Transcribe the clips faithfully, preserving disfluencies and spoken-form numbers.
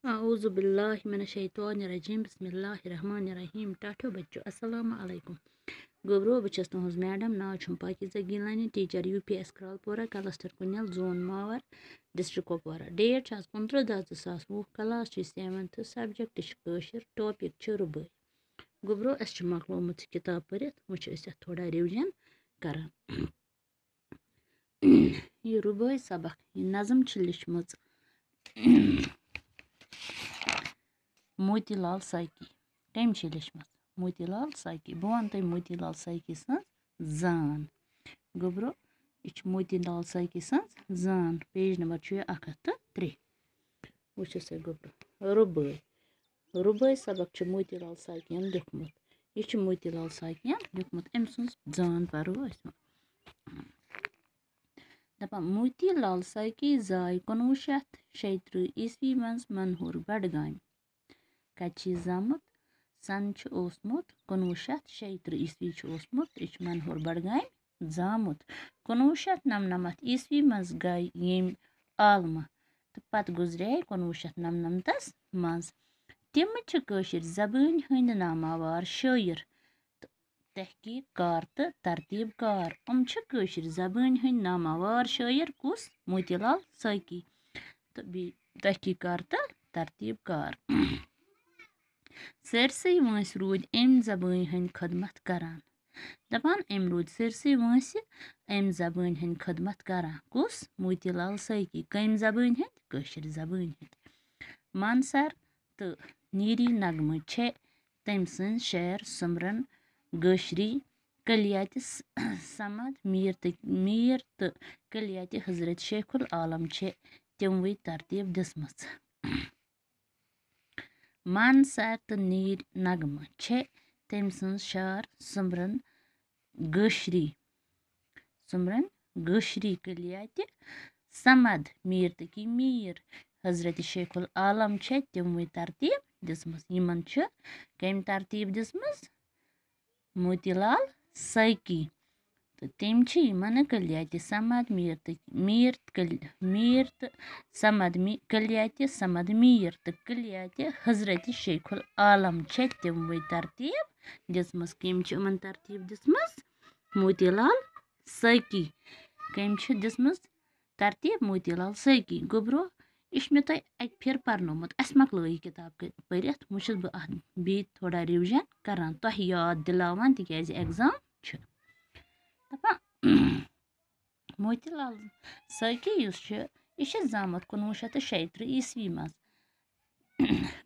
اعوذ باللہ من الشیطان الرجیم، بسم اللہ الرحمن الرحیم۔ ٹاٹھو بچو، السلام علیکم۔ گوٚبرو، بہٕ چھَس تُہٕنٛز میڈم، ناو چھُم Pakeeza Gilani, teacher U P S Kralpora, cluster Kunel, zone Mawar, district Kupwara. Date چھُ آز کُنترٕہ دَہ زٕ ساس وُہ، کلاس چھُ سیونتھ، سبجیکٹ چھُ کٲشُر، ٹاپک چھُ رُبٲے۔ گوٚبرو، اَسہِ چھُ مۄکلومُت یہِ کِتاب پٔرِتھ، وۄنۍ چھِ أسۍ اَتھ تھوڑا ریوجن کران۔ یہِ رُبٲے سبق، یہِ نظم چھِ لیٚچھمٕژ موتی لال ساقی۔ کٔمۍ چھِ لیٚچھمٕژ؟ موتی لال ساقی۔ بہٕ وَنہٕ تۄہہِ موتی لال ساقی سٕنٛز زان۔ گوٚبرو، یہِ چھِ موتی لال ساقی سٕنٛز زان۔ پیج نمبر چھُ یہِ اَکھ ہَتھ تہٕ ترٛےٚ۔ وٕچھِو سا گوٚبرو، رُبٲے۔ رُبٲے سبق چھُ موتی لال ساقین لیوٚکھمُت۔ یہِ چھُ موتی لال ساقین لیوٚکھمُت۔ أمۍ سٕنٛز زان پَرو أسۍ وۄنۍ۔ دَپان، موتی لال ساقی زاے کُنوُہ شیٚتھ شیٚیہِ ترٕٛہ عیسوی منٛز منہور بڈگامہِ۔ کَتہِ چھُ یہِ زامُت؟ سَن چھُ اوسمُت کُنوُہ شیٚتھ شیٚیہِ ترٕٛہ عیسوی چھُ اوسمُت، یہِ چھُ منہور بڈگامہِ زامُت۔ کُنوُہ شیٚتھ نَمنَمَتھ عیسوی منٛز گٔے ییٚمہِ عالمہٕ تہٕ پتہٕ گُزرے کُنوُہ شیٚتھ نَمنَمتَس منٛز۔ تِم چھِ کٲشِر زبٲنۍ ہٕنٛدۍ ناماوار شٲعر تہٕ تحقیق کار تہٕ ترتیب کار۔ یِم چھِ کٲشِر زبٲنۍ ہٕنٛدۍ ناماوار شٲعر کُس؟ موتی لال ساقی۔ تہٕ بیٚیہِ تحقیق کار تہٕ ترتیب کار۔ سٲرسٕے وٲنٛسہِ روٗدۍ اَمہِ زبٲنۍ ہٕنٛدۍ خدمت کران۔ دَپان، أمۍ روٗدۍ سٲرسٕے وٲنٛسہِ اَمہِ زبٲنۍ ہٕنٛدۍ خدمت کران۔ کُس؟ موتی لال ساقی۔ کَمہِ زبٲنۍ ہٕنٛدۍ؟ کٲشِر زبٲنۍ ہٕنٛدۍ۔ مانسر تہٕ نیٖری نغمہٕ چھِ تٔمۍ سٕنٛز شعر سُمرن گٲشری، کلیات س-، صمد میٖر تہٕ، میٖر تہٕ کلیات حضرت شیخ العالم چھِ تِموٕے ترتیٖب دِژمٕژ۔ مانسر تہٕ نیٖر نغمہٕ چھِ تٔمۍ سٕنٛز شعر سُمرن گٲشری، سُمرن گٲشری کلیات صمد میٖر تقی میٖر حضرت شیخ العالم چھِ تِموٕے ترتیٖب دِژمٕژ۔ یِمن چھِ کٔمۍ ترتیٖب دِژمٕژ؟ موتی لال ساقی۔ تہٕ تٔمۍ چھِ یِمن کلیات صمد میٖر تہٕ میٖر کل-، میٖر تہٕ صمد می-، کلیات صمد میٖر تہٕ کلیات حضرت شیخ العالم چھِ تِموٕے ترتیٖب دِژمٕژ۔ کٔمۍ چھِ یِمن ترتیٖب دِژمٕژ؟ موتی لال ساقی۔ کٔمۍ چھِ دِژمٕژ ترتیٖب؟ موتی لال ساقی۔ گوٚبرو، یہِ چھُ مےٚ تۄہہِ اَکہِ پھِرِ پَرنومُت، اَسہِ مۄکلٲو یہِ کِتاب کٔرِتھ، پٔرِتھ۔ وۄنۍ چھَس بہٕ اَتھ بیٚیہِ تھوڑا ریوجن کران، تۄہہِ یاد دِلاوان، تِکیازِ ایگزام چھُ۔ دَپان، موتی لال ساقی یُس چھُ، یہِ چھُ زامُت کُنوُہ شیٚتھ تہٕ شیٚیہِ ترٕٛہ عیسوی منٛز۔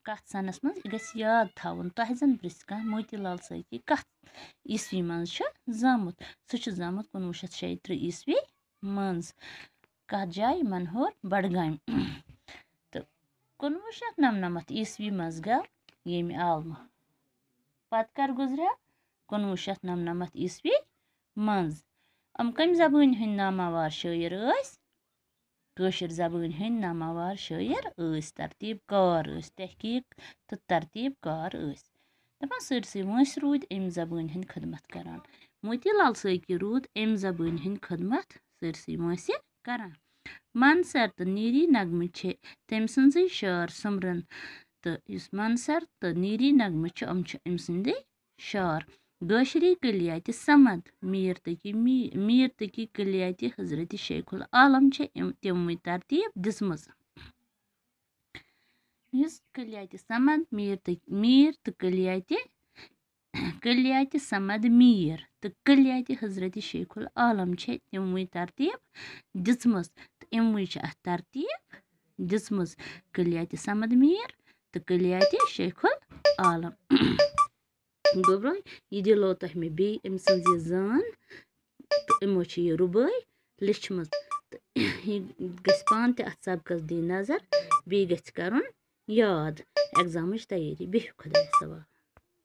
کَتھ سَنَس منٛز، یہِ گژھِ یاد تھاوُن۔ تۄہہِ زَن پرٛژھِ کانٛہہ، موتی لال ساقی کَتھ عیسوی منٛز چھُ زامُت؟ سُہ چھُ زامُت کُنوُہ شیٚتھ شیٚیہِ ترٕٛہ عیسوی منٛز۔ کَتھ جایہِ؟ منہور، بڈگامہِ۔ تہٕ کُنوُہ شیٚتھ نَمنَمَتھ عیسوی منٛز گوٚو ییٚمہِ عالمہٕ۔ پتہٕ کر گُزریو؟ کُنوُہ شیٚتھ نَمنَمَتھ عیسوی منٛز۔ یِم کَمہِ زبٲنۍ ہٕنٛدۍ ناماوار شٲعر ٲسۍ؟ کٲشِر زبٲنۍ ہٕنٛدۍ ناماوار شٲعر ٲسۍ، ترتیٖب کار ٲسۍ، تحقیٖق تہٕ ترتیٖب کار ٲسۍ۔ دَپان، سٲرسٕے وٲنٛسہِ روٗدۍ اَمہِ زبٲنۍ ہٕنٛدۍ خدمت کران۔ موتی لال سٲقی روٗد اَمہِ زبٲنۍ ہٕنٛدۍ خدمت سٲرسٕے وٲنٛسہِ کران۔ مانسر تہٕ نیٖری نغمہٕ چھِ تٔمۍ سٕنٛزٕے شعر سُمرن، تہٕ یُس مانسر تہٕ نیٖری نغمہٕ چھِ، یِم چھِ أمۍ سٕنٛدٕے شعر۔ گٲشری کلیاتِ صمد، میٖر تقی می-، میٖر تقی کلیاتِ حضرت شیخ العالم چھِ أمۍ تِموٕے ترتیٖب دِژمٕژ۔ یُس کلیاتِ صمد، میٖر تقی، میٖر تہٕ کلیاتِ، کلیاتِ صمد میٖر تہٕ کلیاتِ حضرت شیخ العالم چھِ تِموٕے ترتیٖب دِژمٕژ۔ تہٕ أموٕے چھِ اَتھ ترتیٖب دِژمٕژ، کلیاتِ صمد میٖر تہٕ کلیاتِ شیخ العالم۔ گوٚبرو، یہِ دِلو تۄہہِ مےٚ بیٚیہِ أمۍ سٕنٛز یہِ زان، تہٕ یِمو چھِ یہِ رُبٲے لیٚچھمٕژ۔ تہٕ یہِ گژھِ پانہٕ تہِ اَتھ سبقَس دِنۍ نظر، بیٚیہِ گژھِ کَرُن یاد ایگزامٕچ تیٲری۔ بِہِو خۄدایَس حوالہٕ۔